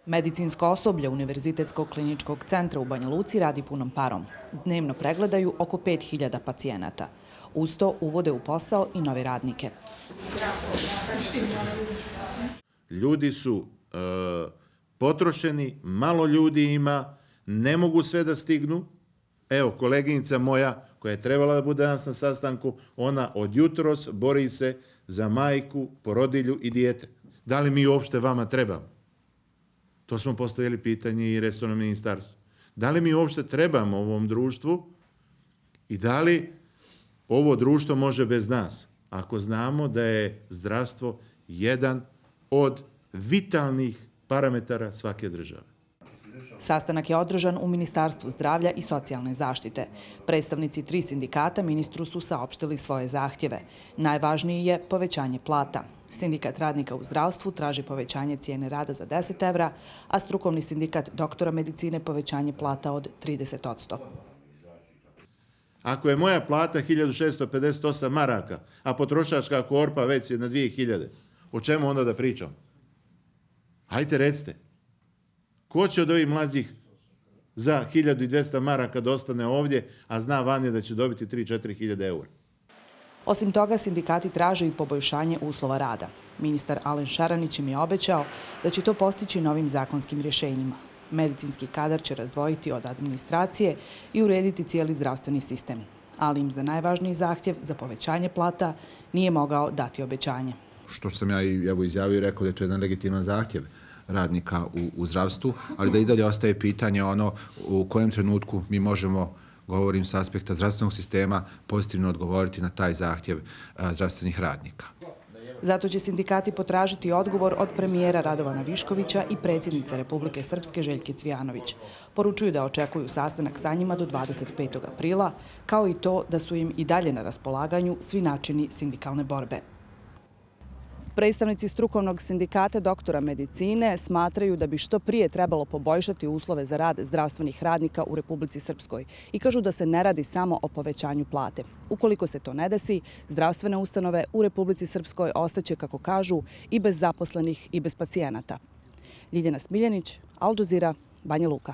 Medicinsko osoblje Univerzitetskog kliničkog centra u Banja Luci radi punom parom. Dnevno pregledaju oko 5000 pacijenata. Uz to uvode u posao i nove radnike. Ljudi su potrošeni, malo ljudi ima, ne mogu sve da stignu. Evo, koleginica moja koja je trebala da bude danas na sastanku, ona od jutros bori se za majku, porodilju i dijete. Da li mi uopšte vama trebamo? To smo postavili pitanje i resornom ministarstvu. Da li mi uopšte trebamo ovom društvu i da li ovo društvo može bez nas? Ako znamo da je zdravstvo jedan od vitalnih parametara svake države. Sastanak je održan u Ministarstvu zdravlja i socijalne zaštite. Predstavnici 3 sindikata ministru su saopštili svoje zahtjeve. Najvažniji je povećanje plata. Sindikat radnika u zdravstvu traži povećanje cijene rada za 10 evra, a strukovni sindikat doktora medicine povećanje plata od 30%. Ako je moja plata 1658 maraka, a potrošačka korpa već je na 2000, o čemu onda da pričam? Hajde recite. Ko će od ovih mlađih za 1200 maraka da ostane ovdje, a zna vanje da će dobiti 3-4 hiljade eura? Osim toga, sindikati traže i poboljšanje uslova rada. Ministar Alen Šaranić im je obećao da će to postići novim zakonskim rješenjima. Medicinski kadar će razdvojiti od administracije i urediti cijeli zdravstveni sistem. Ali im za najvažniji zahtjev za povećanje plata nije mogao dati obećanje. Što sam ja izjavio i rekao da je to jedan legitiman zahtjev radnika u zdravstvu, ali da i dalje ostaje pitanje u kojem trenutku mi možemo, govorim s aspekta zdravstvenog sistema, pozitivno odgovoriti na taj zahtjev zdravstvenih radnika. Zato će sindikati potražiti odgovor od premijera Radovana Viškovića i predsjednice Republike Srpske Željke Cvijanović. Poručuju da očekuju sastanak sa njima do 25. aprila, kao i to da su im i dalje na raspolaganju svi načini sindikalne borbe. Predstavnici strukovnog sindikata doktora medicine smatraju da bi što prije trebalo poboljšati uslove za rad zdravstvenih radnika u Republici Srpskoj i kažu da se ne radi samo o povećanju plate. Ukoliko se to ne desi, zdravstvene ustanove u Republici Srpskoj ostaće, kako kažu, i bez zaposlenih i bez pacijenata. Ljiljana Smiljanić, Al Jazeera, Banja Luka.